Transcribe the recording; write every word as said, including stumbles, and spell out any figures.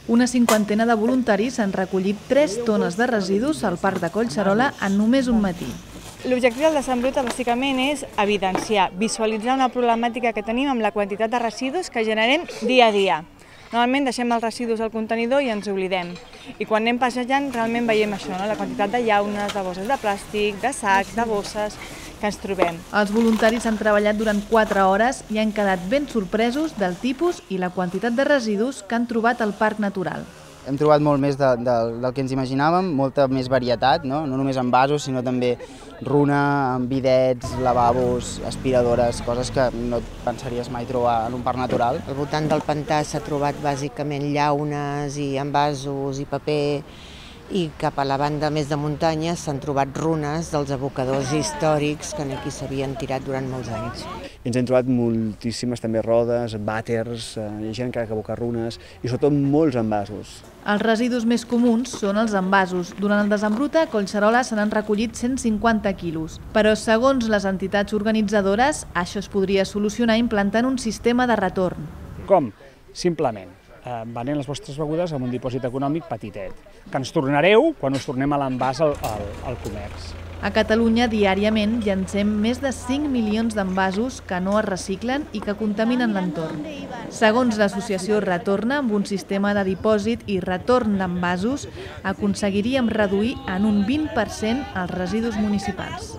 Una cinquantena de voluntaris han recollit tres tones de residus al Parc de Collserola en només un matí. L'objectiu del Decembruta bàsicament és evidenciar, visualitzar una problemàtica que tenim amb la quantitat de residus que generem dia a dia. Normalment deixem els residus al contenidor i ens oblidem. I quan anem passejant realment veiem això, no? La quantitat de llaunes, de bosses de plàstic, de sacs, de bosses que ens trobem. Els voluntaris han treballat durant quatre hores i han quedat ben sorpresos del tipus i la quantitat de residus que han trobat al Parc Natural. Hem trobat molt més de, de, del que ens imaginàvem, molta més varietat, no? No només en vasos, sinó també runa, bidets, lavabos, aspiradores, coses que no et pensaries mai trobar en un parc natural. Al voltant del pantà s'ha trobat bàsicament llaunes i envasos i paper, i cap a la banda més de muntanya s'han trobat runes dels abocadors històrics que aquí s'havien tirat durant molts anys. Ens hem trobat moltíssimes també rodes, vàters, hi ha gent que ha abocat runes i sobretot molts envasos. Els residus més comuns són els envasos. Durant el Decembruta a Collserola se n'han recollit cent cinquanta quilos. Però segons les entitats organitzadores, això es podria solucionar implantant un sistema de retorn. Com? Simplement venent les vostres begudes amb un dipòsit econòmic petitet, que ens tornareu quan us tornem a l'envàs al, al, al comerç. A Catalunya, diàriament, llancem més de cinc milions d'envasos que no es reciclen i que contaminen l'entorn. Segons l'associació Retorna, amb un sistema de dipòsit i retorn d'envasos, aconseguiríem reduir en un vint per cent els residus municipals.